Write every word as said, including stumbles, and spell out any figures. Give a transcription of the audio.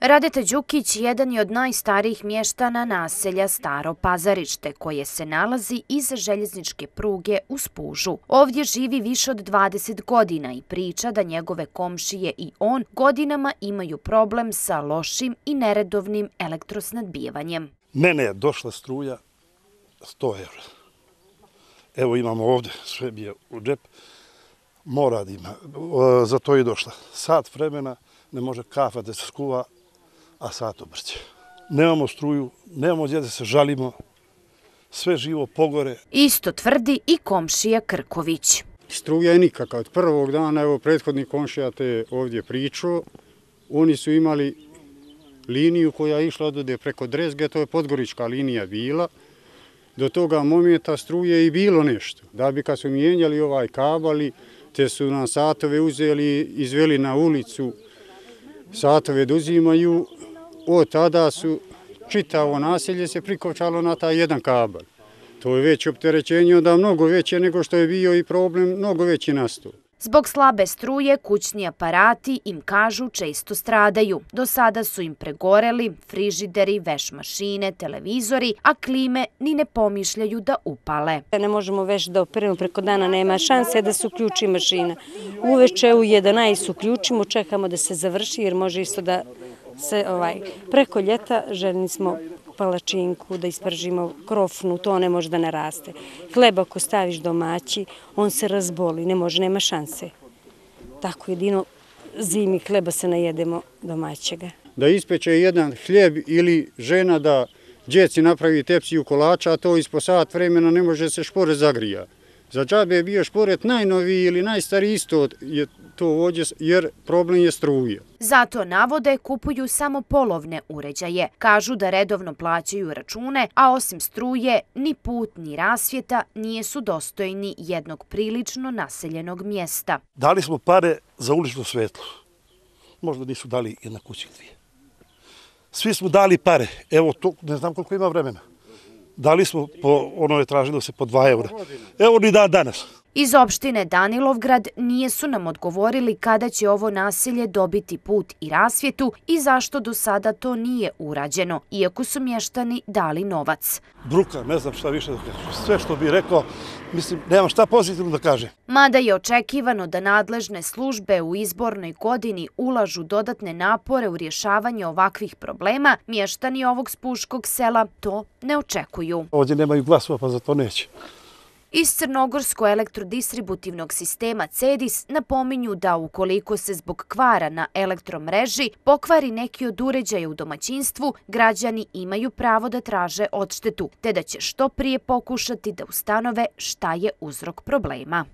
Radeta Đukić jedan je od najstarijih mještana naselja Staro Pazarište, koje se nalazi iza željezničke pruge u Spužu. Ovdje živi više od dvadeset godina i priča da njegove komšije i on godinama imaju problem sa lošim i neredovnim elektrosnabdijevanjem. Mene je došla struja sto evra. Evo imamo ovdje, sve mi je u džep, mora da ima, za to je došla. Sat vremena ne može kafa da se skuva, a sat obrće. Nemamo struju, nemamo gdje da se žalimo, sve živo pogore. Isto tvrdi i komšija Krković. Struja je nikakva. Od prvog dana, evo prethodni komšija te ovdje pričao, oni su imali liniju koja je išla odode preko Drezge, to je podgorička linija bila. Do toga momenta struje i bilo nešto. Da bi kad su mijenjali ovaj kabali, te su nam satove uzeli, izveli na ulicu, satove da uzimaju. Od tada su čitavo naselje se prikovčalo na taj jedan kabel. To je već opterećenje onda mnogo veće nego što je bio i problem, mnogo veći nastao. Zbog slabe struje, kućni aparati, im kažu, često stradaju. Do sada su im pregoreli frižideri, veš mašine, televizori, a klime ni ne pomišljaju da upale. Ne možemo već da operemo preko dana, nema šanse da se uključi mašina. Uveče u jedanaest uključimo, čekamo da se završi jer može isto da se ovaj, preko ljeta željni smo palačinku, da ispržimo krofnu, to ne može da naraste. Hleb ako staviš domaći, on se razboli, ne može, nema šanse. Tako jedino zimi hleba se najedemo domaćega. Da ispeče jedan hljeb ili žena da djeci napravi tepsiju kolača, a to ispod sat vremena ne može se šporet zagrija. Za džabe je bio šporet najnoviji ili najstariji isto je to ovdje, jer problem je struja. Zato navode kupuju samo polovne uređaje. Kažu da redovno plaćaju račune, a osim struje, ni put ni rasvjeta nijesu dostojni jednog prilično naseljenog mjesta. Dali smo pare za ulično svetlo. Možda nisu dali jedna kuća dvije. Svi smo dali pare. Evo, to ne znam koliko ima vremena. Dali smo, po, ono je tražilo se po dva eura. Evo ni dan danas. Iz opštine Danilovgrad nijesu nam odgovorili kada će ovo naselje dobiti put i rasvjetu i zašto do sada to nije urađeno, iako su mještani dali novac. Bruka, ne znam šta više da kažem. Sve što bih rekao, mislim, nemam šta pozitivno da kažem. Mada je očekivano da nadležne službe u izbornoj godini ulažu dodatne napore u rješavanje ovakvih problema, mještani ovog spuškog sela to ne očekuju. Ovdje nemaju glasova, pa za to neće. Iz Crnogorsko-elektrodistributivnog sistema CEDIS napominju da ukoliko se zbog kvara na elektromreži pokvari neki od uređaja u domaćinstvu, građani imaju pravo da traže odštetu, te da će što prije pokušati da ustanove šta je uzrok problema.